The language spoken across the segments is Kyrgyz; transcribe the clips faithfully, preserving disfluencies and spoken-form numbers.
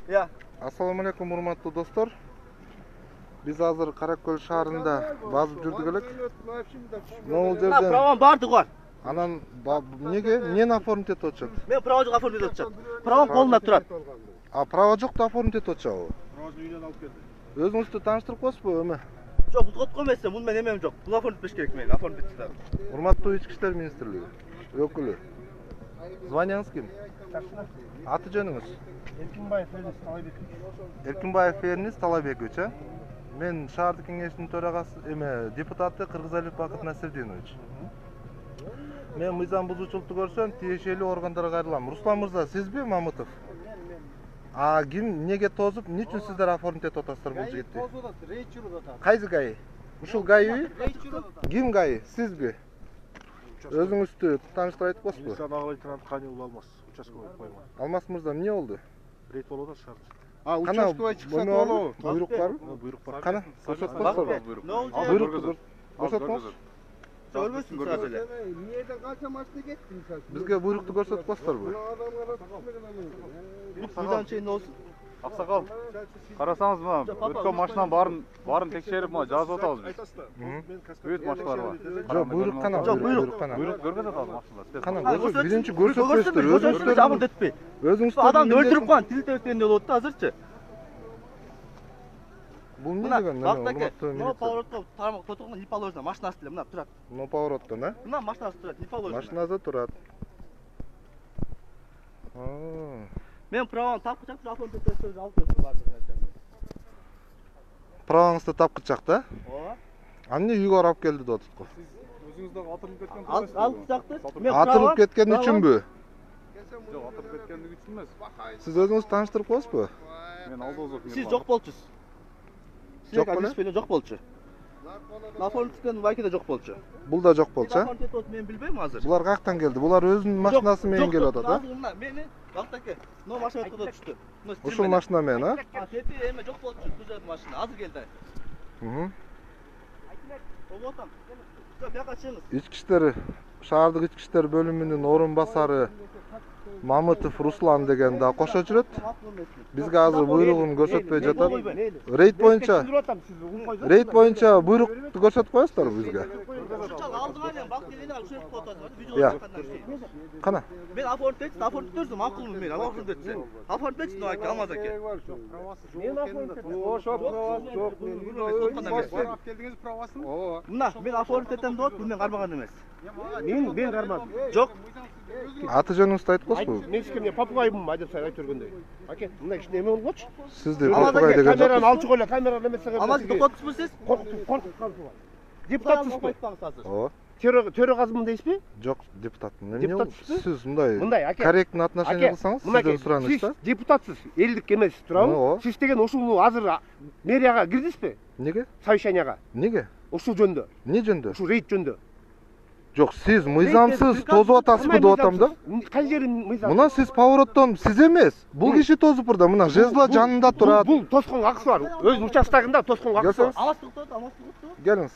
Я. Ассаламу алейкум, урматтуу достор. Биз азыр Каракөл шаарында базып жүрдүк элек. Могул жерден Правом бардык бар. Анан эмнеге эмнени оформить этип атышат? Мен право жок оформить этип атышат. Правом колунда турат. А право жокто оформить этип атышабы? Правону үйдөн алып келди. Өзүңүздү тааныштырып коесузбу эме? Жок, бул кот эмес, мун менен эмем жок. Бул оформить этиш керек мен, оформить этсем. Урматтуу Ички иштер министрлиги өкүлү. Званияңыз ким? Аты жөнүңүз? Эркинбаев Ферниз Талайбекович. Эркинбаев Ферниз Талайбекович, э? Мен шаардык кеңештин төрагасы, эме, депутаты Кыргызалиев Бакыт Насирдинович. Мен мыйзам бузуучулукту көрсөм, тиешелүү органдарга кайрылам. Руслан мырза, сизби Мамытов? А ким эмнеге тозуп, эмне үчүн сиздер оформить этип атасыздар бул жигитти? Тозуп атат, рейд жүрүп атат. Кайсы ГАИ? Ушул ГАИби? Рейд жүрүп атат. Ким ГАИ? Сизби? Өзүңүздү тааныштырып айтып коесузбу? Милиция ага лейтенант Канилов Алмаз, участковый койма. Алмаз мырза, эмне болду? Рейд болуп атат шаарда. А, участковый чыкса болобу? Буйрук барбы? Буйрук бар. Кана, көрсөтүп коесуздарбы? Буйрукту көрсөтүп Көрбөйсүң сразу эле. Эмнеден канча машина кетти мисалы? Бизге буйрукту көрсөтүп коесуздарбы? Мыйдан чейин болсун. Аксакал, карасаңыз мына өткөн машинанын баарын баарын текшерип мына жазып атабыз биз. Бүт машиналар бар. Жок, буйрук кана, Жок, буйрук кана. Буйрук көргөзөт атабыз машиналар. Кана, көрсөт, биринчи көрсөтпөйсүздөр, Өзүңүз өзүңүздөр жабын этпей. өзүңүздөр Адамды өлтүрүп койгон, тилте өткөндөй болот да азырчы. Бул эмне Мына деген? бактаке, мына поворотко тарамак тотугун ип алып машинасы деле мына турат. Но повороттон, э? Мына машинасы турат, ип алып. Машинада турат. Аа. Мен правом тапкычак алып кетип алып кетип бардым. Правоңузду тапкычак да? Ооба. А эмне үйгө алып келди деп атат го? Өзүңүз дагы атырылып кеткен Алып чакты. Мен Атырылып кеткен үчүнбү? Жок, атырылып кеткендиги үчүн эмес. Сиз өзүңүз тааныштырып коесузбу? Мен алдоозов. Сиз жок болчусуз. Жок беле? Сиз жок болчу. Нафонтиктен Вайкиде жок болчу. Бул да жок болчу, а? Мен билбейм азыр. Булар каяктан келди? Булар өзүнүн машинасы менен келип атат, а? Мени бактаке, но машина өткөдө түштү. Ушул машина менен, а? А, тепи эме жок болчу, түзөт машина. Азыр келди. Мм. Оботам. Жок, бияка чыгыңыз. Ички иштер, шаардык ички иштер бөлүмүнүн орун басары Мамытов Руслан деген да кошо жүрөт. Бизге азыр буйругун көрсөтпөй жатат. Рейд боюнча Рейд боюнча буйрукту көрсөтүп коесуздарбы бизге? Алдыма мен бак келени алып жүрүп коётат. Я. Кана. Мен оформить этсем, оформить этсем, макулмун мен, оформить этсем. Оформить этсем, аке, Алмаз аке. Мен оформить этем. Ошо правасы жок. Алып келдиңиз правасын? Ооба. Мына, мен оформить этем деп атып, мен кармаган эмес. Мен мен кармадым. Жок. Аты жөнүңүздү айтып коесузбу? Мен сизге попугайбын деп айтып жүргөндөй. Аке, мына кичине эме болгочу. Сизди попугай деген камераны жок. алчык эле, камераны эмесе. Алмаз токотсузбу сиз? Коркуп, коркуп калдыңыз. Депутатсызбы? Ооба. Төрөгазмын дейсизби? Жок, депутатмын. Эмне Депутат болду? Сиз мындай Мындай, аке. корректный отношение кылсаңыз, сизден сураныч да. Сиз депутатсыз, элдик эмес, туурабы? Сиз деген ушул азыр мэрияга кирдиңизби? Эмнеге? Совещанияга. Эмнеге? Ушул жөндө. Эмне жөндө? Ушул рейд жөндө. Жок, сиз мыйзамсыз тозуп атасызбы деп атам да. Кай жерин мыйзам? Мына сиз повороттон сиз эмес. Бул киши тозуп бурда, мына жезла жанында турат. Бул тосконго акысы бар. Өз участогунда тосконго акысы бар. Алмаз токтот, Алмаз токтот. Келиңиз.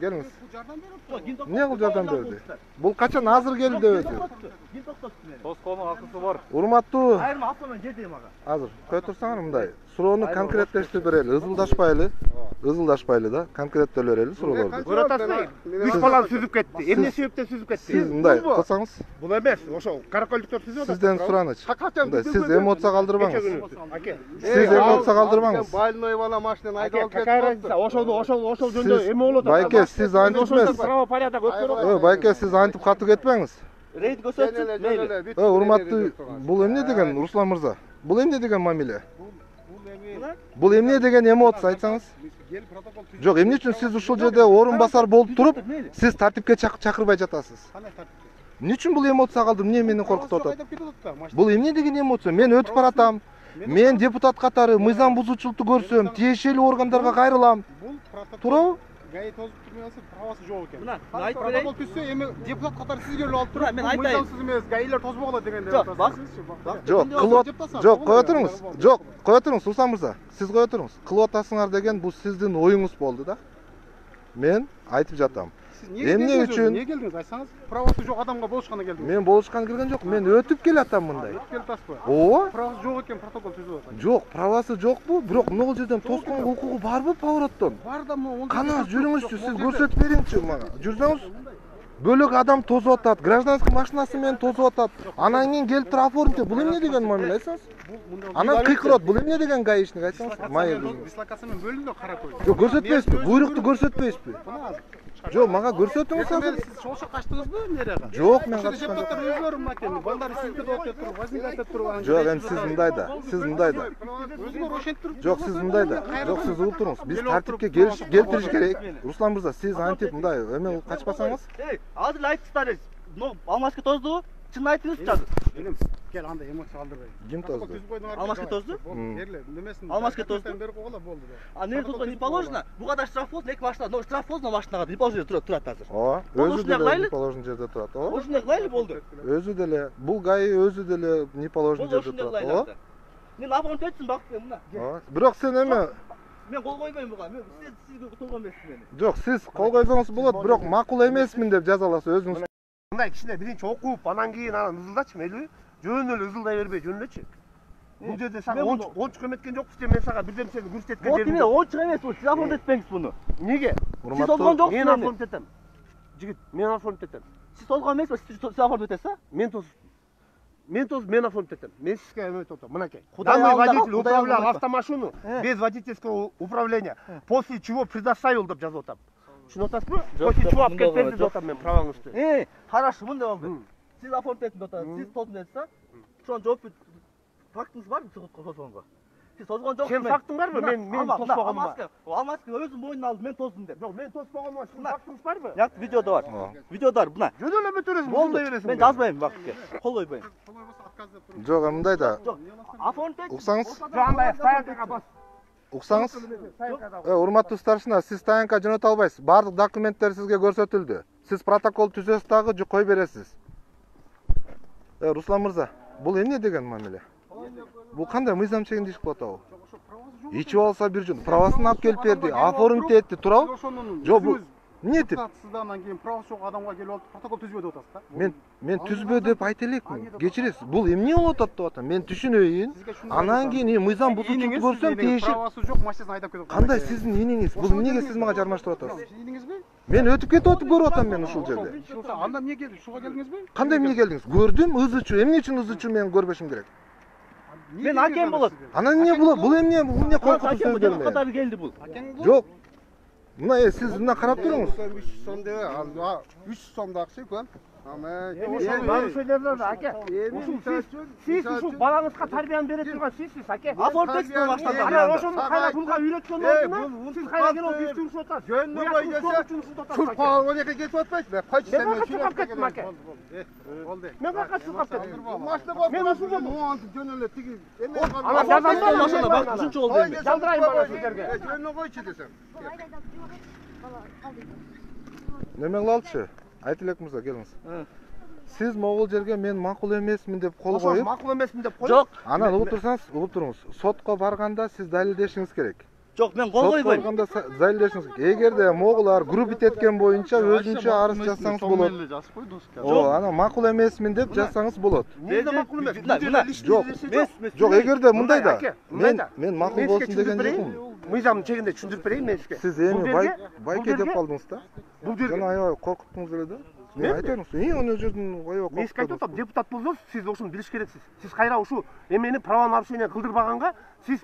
Келиңиз. Жардам берип. Эмне кылып жардам берди? Бул качан азыр келди деп атат. Ким токтотту мени? Тоскоонун акысы бар. Урматтуу. Айырма автомен жердейм ага. Азыр кое турсаңар мындай. Суроону конкреттештирип берели. Ызылдашпайлы. Ызылдашпайлы да, конкреттелеп берели суроолорду. Көрөт атасызбы? Үч баланы сүзүп кетти. Эмне себептен сүзүп кетти? Сиз мындай кылсаңыз. Бул эмес, ошо каракөлдүктөр сүзүп атат. Сизден сураныч. Мындай, сиз эмоция калтырбаңыз. Аке. Сиз эмоция калтырбаңыз. Больной бала машинаны айдап алып кетти. Ошол ошол ошол жөндө эме болот. Байке, сиз антип эмес. Правопорядок өткөрөт. Ой, байке, сиз антип катуу кетпеңиз. Рейд көрсөтсүн, мейли. Ой, урматтуу, бул эмне деген Руслан мырза? Бул эмне деген мамиле? Бул эмне деген эмоция айтсаңыз? Жок, эмне үчүн сиз ушул жерде орун басар болуп туруп, сиз тартипке чакырбай жатасыз? Эмне үчүн бул эмоция калды? Эмне мени коркутуп атат? Бул эмне деген эмоция? Мен өтүп баратам. Мен депутат катары мыйзам бузуучулукту көрсөм, тиешелүү органдарга кайрылам. Туурабы? ГАИ тозуп турмай алса, правасы жок экен. Мына, мен айтып берейин. Протокол түзсө, эми депутат катары сиз келип алып туруп, мен айтайын. мыйзамсыз эмес, ГАИлер тозбогула дегенде. Жок, бак. Жок, кылып, жок, кое туруңуз. Жок, кое туруңуз, Руслан мырза. Сиз кое туруңуз. Кылып атасыңар деген бул сиздин оюңуз болду да. мен айтып жатам. Сиз Эмне үчүн? Эмне келдиңиз? Айтсаңыз, правасы жок адамга болушканда келдиңиз. Мен болушкан келген жок, мен өтүп келатам мындай. Өтүп келип атасызбы? Ооба. Правасы жок экен, протокол түзүп атат. Жок, правасы жокпу? Бирок могул жерден тосконго укугу барбы повороттон? Бар да могу. Кана жүрүңүзчү, сиз көрсөтүп бериңизчи мага. Жүрсөңүз. Бөлөк адам тосуп атат, гражданский машинасы менен тосуп атат. Анан кийин келип туруп оформите. Бул эмне деген мамиле айтсаңыз? Анан кыйкырат, бул эмне деген гаишник айтсаңыз? Майы. Дислокация менен бөлүндү каракөй. Жок, көрсөтпөйсүзбү? Буйрукту көрсөтпөйсүзбү? Жок, мага көрсөтүңүз азыр. Сиз чогуша качтыңызбы эмнеге? Жок, мен качкан жок. Депутаттар өзүлөрү мынакей, балдар сизди доктор туруп, возник айтып туруп. Жок, эми сиз мындай да, сиз мындай да. Өзүңөр ошентип. Жок, сиз мындай да. Жок, сиз угуп туруңуз. Биз тартипке келтириш керек. Руслан мырза, сиз антип мындай эме качпасаңыз. Эй, азыр айтыңыздар. Ну, алмашка тоздубу? Чын айтыңызчы азыр. Энем, кел анда эмоция алдырбай. Ким тозду? Алмашка тозду? Берле, немесин. Алмашка тозду? Берип койгула болду. А не тозго не положено? Буга да штраф болсун, эки машина, но штраф болсун машинага, не положено турат турат азыр. Ооба, өзү деле положено жерде турат. Ооба. Ошондой кылайлы болду. Өзү деле, бул ГАИ өзү деле не положено жерде турат. Ооба. Мен абонент өтсүн бакты мына. Ооба. Бирок сен эме мен кол койбойм буга. Мен сиз сизге толгон эмесмин мени. Жок, сиз кол койсоңуз болот, бирок макул эмесмин деп жаза аласыз өзүңүз. Мындай кичине биринчи окуп, анан кийин анан ызылдачы мейли. Жөн эле ызылдай бербей жөндөчү. Бул жерде сага ончук эметкен жокпуз же мен сага бирден сени көрсөткөн Вот эмне ончук эмес бул, сиз оформить этпеңиз буну. Неге? Сиз толгон жоксуз. Мен оформить этем. Жигит, мен оформить этем. Сиз толгон эмеспи, сиз оформить этесиз а? Мен тос. Мен тос, мен оформить этем. Мен сизге эметип атам. Мынакей. Кудай Данный алдыга, водитель Кудай управлял алдыга. автомашину без водительского управления, после чего предоставил деп жазып атам. Түшүнүп атасызбы? После чего алып кетти деп атам мен праваңызды. Э, хорошо, мындай болду. Сиз оформить этип атасыз, сиз толгон этесиз а? Ошон жооп фактыңыз барбы сиз тозгонго? Сиз тозгон жоксуз. Сен фактың барбы? Мен мен тоспогонмун. Алмаска өзүм мойнуна алдым, мен тоздум деп. Жок, мен тоспогонмун. Сиздин фактыңыз барбы? Жак видеодо бар. Видеодо бар, мына. Жөн эле өтөрөсүң, Болду. мындай бересиң. Мен жазбайм бакытке. Кол койбойм. Жок, мындай да. Жок. Оформить этип. Уксаңыз? Жок, андай стоянкага бас. Уксаңыз? Э, урматтуу старшина, сиз стоянка жөнөтө албайсыз. Бардык документтер сизге көрсөтүлдү. Сиз протокол түзөсүз дагы же кой бересиз. Э, Руслан мырза, бул эмне деген мамиле? Бул кандай мыйзам чегинде иш кылып атабы? Ичип алса бир жөн, правасын алып келип берди, оформить этти, туурабы? Жок, бул эмне этип? Сиздан кийин правасы жок адамга келип алып протокол түзбө деп атасыз да? Мен мен түзбө деп айта элекмин. Кечиресиз. Бул эмне болуп атат деп атам. Мен түшүнөйүн. Анан кийин мыйзам бузуучулукту көрсөм тиешип. Правасы жок машинасын айдап кетип атат. Кандай сиздин иниңиз? Бул эмнеге сиз мага жармаштырып атасыз? Иниңизби? Мен өтүп кетип атып көрүп атам мен ушул жерде. Анда эмне келди? Шуга келдиңизби? Кандай эмне келдиңиз? Көрдүм, ызычу. Эмне үчүн ызычу мен көрбөшүм керек? Мен акем болот. Анан эмне болот? Бул эмне? Бул эмне коркутуу сөздөр мен? Катары келди бул. Жок. Мына э сиз мына карап туруңуз. үч сом деп, ал үч сомдо акча экен. Ама Нарушениялар аке. Сиз ушул балаңызга тарбияны бере турган сизсиз аке. Оформить этип баштады. Анан ошону кайра пулга үйрөткөн ордуна сиз кайра келип бизди урушуп атасыз. жөнүнө кой десе, чуркага он эки кетип атпайсызбы? Кайчы Мен кайка чуркап кеттим аке. Болду. Мен кайка чуркап кеттим. Машина коюп Мен ушул жерде жөнүнө жөн эле тиги эме Анан жазам машина бак үчүнчү болду эми. Жалдырайын бала сиздерге. жөнүнө койчу десем. Неме кылалычы? Айт элек мырза, келиңиз. Сиз могул жерге мен макул эмесмин деп кол Ошо коюп, макул эмесмин деп коюп. Жок, анан угуп турсаңыз, угуп туруңуз. Сотко барганда сиз далилдешиңиз керек. жок, мен кол Сотко койбойм. барганда далилдешиңиз керек. Эгерде могулар группит эткен боюнча өзүнчө арыз жазсаңыз болот. О, анан макул эмесмин деп жазсаңыз болот. Мен да макул эмес. Жок, жок, эгерде мындай да. Мен мен макул Мен болсун сизге деген түшүндүрүп жокмун. берейин. Мыйзамдын чегинде түшүндүрүп берейин мен сизге. Сиз эми Бул бай жерге- байке бул деп жерге- калдыңыз да. Бул жерге Жана аябай коркуттуңуз эле да. Мен айтайын, и аны жерден аябай мен сизге айтып коркуттум. атам, депутат болсоңуз, сиз ошону билиш керексиз. Сиз кайра ушул эмени право нарушение кылдырбаганга сиз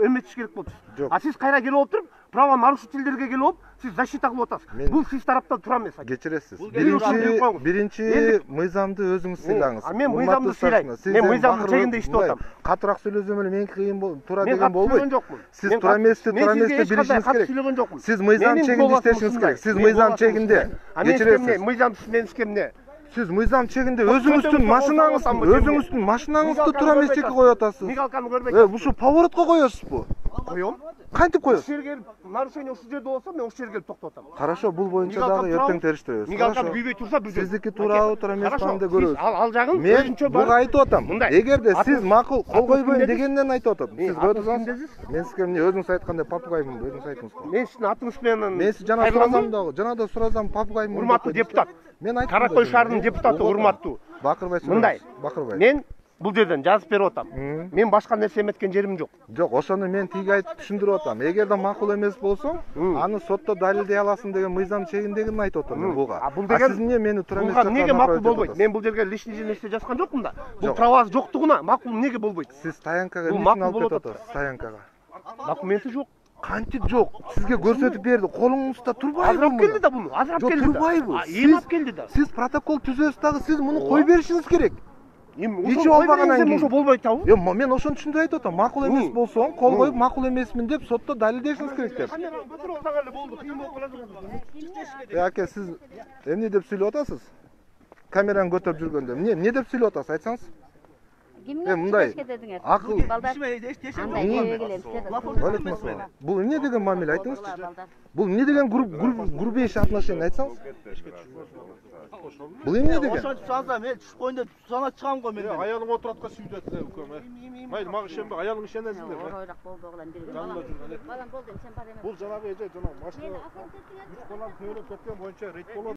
эметиш керек болчусуз. Жок. А сиз кайра келип отуруп, право нарушительдерге келип алып, сиз защита кылып атасыз. Мен- Бул сиз тараптан туура эмес. Кечиресиз. Бул Биринчи биринчи мыйзамды өзүңүз сыйлаңыз. А мен Урматтуу мыйзамды старшина, сыйлайм. сиз Мен эми мыйзамдын бакыр- чегинде иштеп мындай атам. Катыраак сүйлөсөм эле меники кыйын болот, туура Мен деген катты болбойт. сүйлөгөн жокмун. Сиз Мен туура катты- эмести, мен туура сизге эмести эч кандай билишиңиз катты керек. сүйлөгөн жокмун. Сиз мыйзам Менин чегинде голосум иштешиңиз ушундай. керек. Сиз Мен мыйзам голосум чегинде. ушундай. А мен сизге эмне? Кечиресиз. Мыйзам мен сизге эмне? Сиз мыйзам чегинде Көтөңүз өзүңүздүн болсо машинаңызды, болсо болсо өзүңүздүн машинаңызды Мигалканы туура эмес көрбөй чекке атасыз. коюп атасыз. Мигалканы көрбөй Э, ушул поворотко коесузбу? Коем. Кантип коесуз? Ушул жерге келип нарушение ушул жерде болсо мен ушул жерге келип токтотом. Хорошо, бул боюнча дагы эртең териштиребиз. Мигалкам күйбөй турса бизде. Сиздики туурабы туура эмеспи анда көрөбүз. Ал ал жагын Мен өзүнчө буга айтып атам. Мындай. Эгерде сиз макул кол Атыңыз койбойм ким дегенден айтып атам. Сиз кое турсаңыз, ким мен сизге эмне өзүңүз айткандай папугаймын, өзүңүз айттыңыз. Мен сиздин атыңыз менен Мен сиз жана суразам дагы, жана да суразам папугаймын. урматтуу депутат. Мен айттым. Кара Кой шаарынын депутаты урматтуу. Бакырбай Мындай. Бакырбай. Мен бул жерден жазып берип атам. Мен башка нерсе эметкен жерим жок. Жок, ошону мен тиги айтып түшүндүрүп атам. Эгерде макул эмес болсоң, аны сотто далилдей аласың деген мыйзам чегиндегин айтып атам мен буга. А бул деген сиз эмне мени туура эмес буга жакка эмнеге макул направить болбойт? этип Мен бул жерге лишний нерсе жазган жокмун да. Бул Жок. правасы жоктугуна макул эмнеге болбойт? атасыз? Сиз таянкага Бул эмне макул үчүн алып болуп кетип атат. атасыз? Таянкага. Документи жок. Кантип жок? Сизге көрсөтүп берди. Колуңузда турбайбы? Азырап келди да буну. Азырап Жок, келди да. турбайбы? А, Сиз- эми алып келди да. Сиз протокол түзөсүз дагы сиз муну кой беришиңиз керек. Эми Ичи ошо болбагандан кийин кийин. ошо болбойт табы? Эми мен ошону түшүндүрүп айтып атам. Макул эмес болсоң, кол коюп макул эмесмин деп сотто далилдешиңиз керек деп. Камераны көтөрүп алсаң эле болду. Кыйын болуп калат. Э, аке, сиз эмне деп сүйлөп атасыз? Камераны көтөрүп жүргөндө эмне эмне деп сүйлөп атасыз? Айтсаңыз. Кимге Э, мындай дедиңер? акыл. Балдар андай жебе келем Алейкум ассалам. Бул эмне деген мамиле айтыңызчы? Бул эмне деген груб грубейший отношение айтсаңыз? Бул эмне деген? Ошентип чыгсаңыздар мен түшүп коеюн деп сана чыгам го мен. Аялың отуратка сүйдү атты укам. Майыл мага ишенбе, аялың ишенесиңдер. Оройрак болду оглам бир. Жанында жүргөн. Балам болду, сен бар эмес. Бул жанагы эже жана машина үч балам көйрөп кеткен боюнча рейд болот.